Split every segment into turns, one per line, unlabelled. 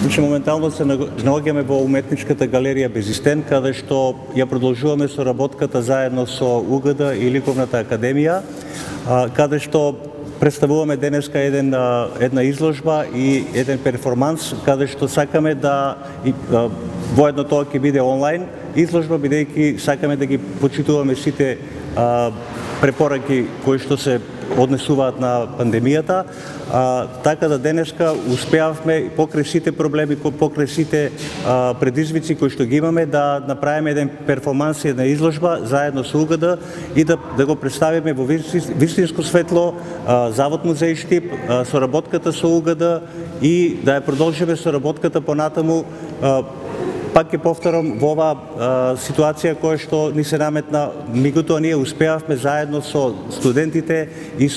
Значи, моментално се наоѓаме во уметничката галерија Безистен, каде што ја продолжуваме соработката заедно со УГД и Ликовната академија, каде што представуваме денеска една изложба и еден перформанс, каде што сакаме да воедно тоа ќе биде онлайн изложба, бидејќи сакаме да ги почитуваме сите препораки кои што се однесуваат на пандемијата, така да денеска успеавме покрај сите проблеми, покрај сите предизвици кои што ги имаме, да направиме еден перформанс и една изложба заедно со УГД и да го представиме во вистинско светло Завод музеј Штип, соработката со УГД и да ја продолжиме соработката понатаму. Пак ќе повторам, во оваа ситуација која што ни се наметна, меѓутоа ние успеавме заедно со студентите и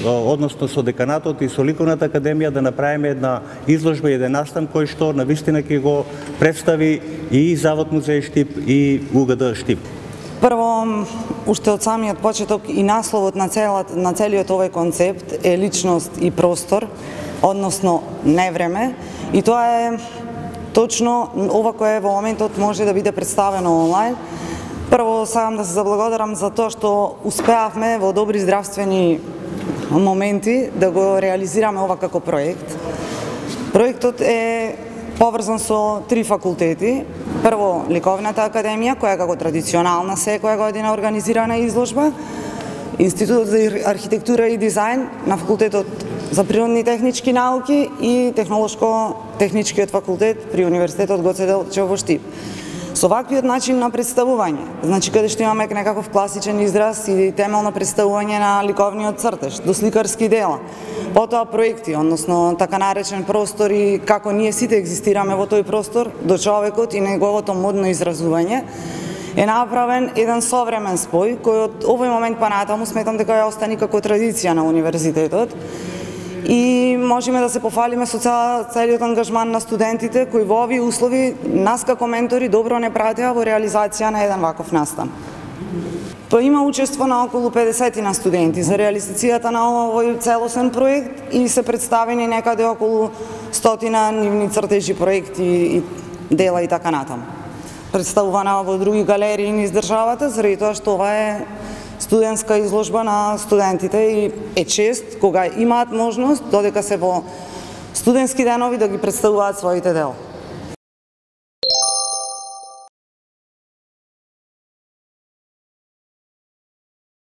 односно со деканатот и со Ликовната академија да направиме една изложба и еден настан кој што навистина ќе го представи и Завод музеј Штип и УГД Штип.
Прво, уште од самиот почеток и насловот на целиот овој концепт е личност и простор, односно невреме, и тоа е точно ова кое во моментот може да биде представено онлайн. Прво сакам да се заблагодарам за тоа што успеавме во добри здравствени моменти да го реализираме ова како проект. Проектот е поврзан со 3 факултети. Прво, Ликовната академија, која како традиционална секоја година организирана изложба, Институтот за архитектура и дизајн на факултетот за природни и технички науки и Технолошко-техничкиот факултет при Универзитетот Гоце Делчев во Штип. Со ваквиот начин на представување, значи каде што имаме некаков класичен израз и темелно представување на ликовниот цртеж, до сликарски дела, потоа проекти, односно така наречен простор и како ние сите екзистираме во тој простор, до човекот и неговото модно изразување, е направен еден современ спој, кој од овој момент па натаму сметам дека ја остани како традиција на универзитетот. И можеме да се пофалиме со целиот ангажман на студентите кои во овие услови нас како ментори добро не пратеа во реализација на еден ваков настан. Има учество на околу 50 на студенти за реализацијата на овој целосен проект и се представени некаде околу 100 нивни цртежи, проекти и дела и така натаму. Представувана во други галерии низ државата, заради тоа што ова е студентска изложба на студентите и е чест кога имаат можност, додека се во студентски денови, да ги представуваат своите дела.